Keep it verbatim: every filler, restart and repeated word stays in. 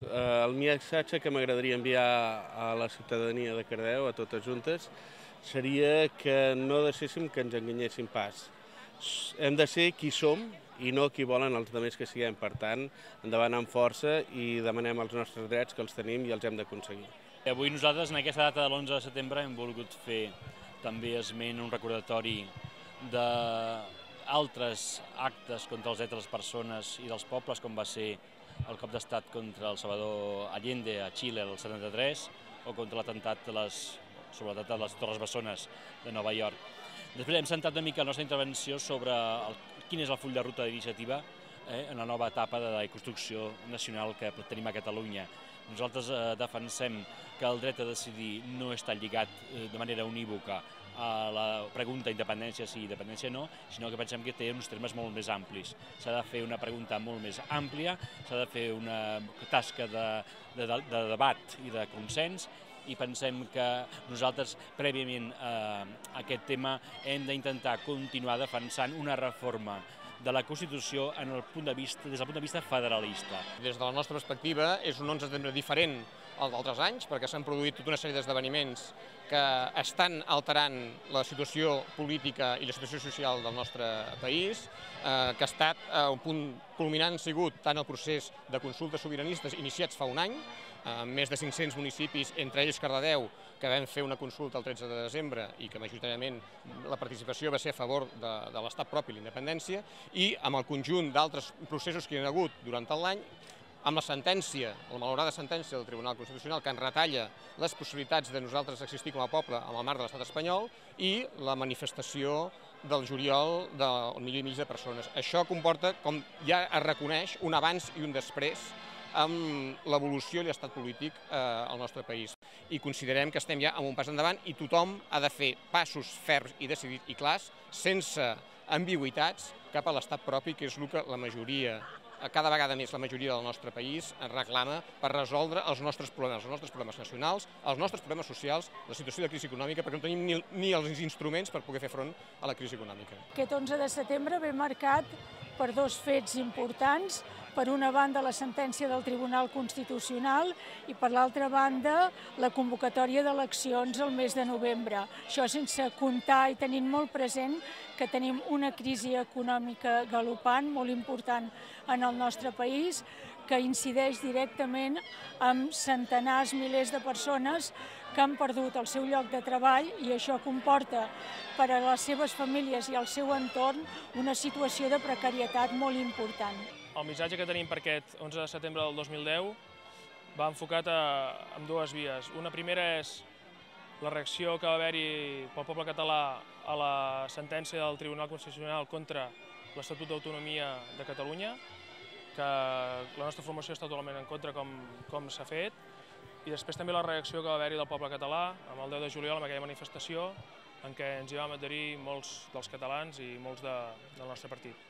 El missatge que m'agradaria enviar a la ciutadania de Cardedeu, a totes juntes, seria que no deixéssim que ens enganyéssim pas. Hem de ser qui som i no qui volen els altres que siguem. Per tant, endavant amb força i demanem els nostres drets, que els tenim i els hem d'aconseguir. Avui nosaltres, en aquesta data de l'onze de setembre, hem volgut fer també esment un recordatori d'altres actes contra els drets de les persones i dels pobles, com va ser el cop d'estat contra el Salvador Allende a Xile el setanta-tres o contra l'atemptat sobre l'atemptat de les Torres Bessones de Nova York. Després hem centrat una mica la nostra intervenció sobre el, quin és el full de ruta d'iniciativa eh, en la nova etapa de la construcció nacional que tenim a Catalunya. Nosaltres eh, defensem que el dret a decidir no està lligat eh, de manera unívoca a la pregunta independència sí, independència no, sinó que pensem que té uns termes molt més amplis. S'ha de fer una pregunta molt més àmplia, s'ha de fer una tasca de, de, de debat i de consens, i pensem que nosaltres, prèviament a aquest tema, hem d'intentar continuar defensant una reforma de la Constitució en el punt de vista, des del punt de vista federalista. Des de la nostra perspectiva, és un onze de setembre diferent al d'altres anys, perquè s'han produït tota una sèrie d'esdeveniments que estan alterant la situació política i la situació social del nostre país, eh, que ha estat eh, un punt culminant sigut tant el procés de consultes sobiranistes iniciats fa un any, amb més de cinc-cents municipis, entre ells Cardedeu, que vam fer una consulta el tretze de desembre i que majoritàriament la participació va ser a favor de, de l'estat propi i l'independència, i amb el conjunt d'altres processos que hi ha hagut durant tot l'any, amb la sentència, la malhaurada sentència del Tribunal Constitucional que en retalla les possibilitats de nosaltres existir com a poble amb el marc de l'estat espanyol, i la manifestació del juliol del milió i mig de persones. Això comporta, com ja es reconeix, un abans i un després amb l'evolució i l'estat polític eh, al nostre país. I considerem que estem ja en un pas endavant i tothom ha de fer passos ferms i decidits i clars, sense ambigüitats, cap a l'estat propi, que és el que la majoria, cada vegada més la majoria del nostre país reclama per resoldre els nostres problemes, els nostres problemes nacionals, els nostres problemes socials, la situació de crisi econòmica, perquè no tenim ni, ni els instruments per poder fer front a la crisi econòmica. Aquest onze de setembre ve marcat per dos fets importants. Per una banda, la sentència del Tribunal Constitucional i, per l'altra banda, la convocatòria d'eleccions el mes de novembre. Això sense comptar i tenint molt present que tenim una crisi econòmica galopant, molt important en el nostre país, que incideix directament amb centenars, milers de persones que han perdut el seu lloc de treball, i això comporta per a les seves famílies i al seu entorn una situació de precarietat molt important. El missatge que tenim per aquest onze de setembre del dos mil deu va enfocat a, en dues vies. Una primera és la reacció que va haver-hi pel poble català a la sentència del Tribunal Constitucional contra l'Estatut d'Autonomia de Catalunya, que la nostra formació està totalment en contra com, com s'ha fet, i després també la reacció que va haver-hi del poble català amb el deu de juliol, amb aquella manifestació en què ens hi vam adherir molts dels catalans i molts de, del nostre partit.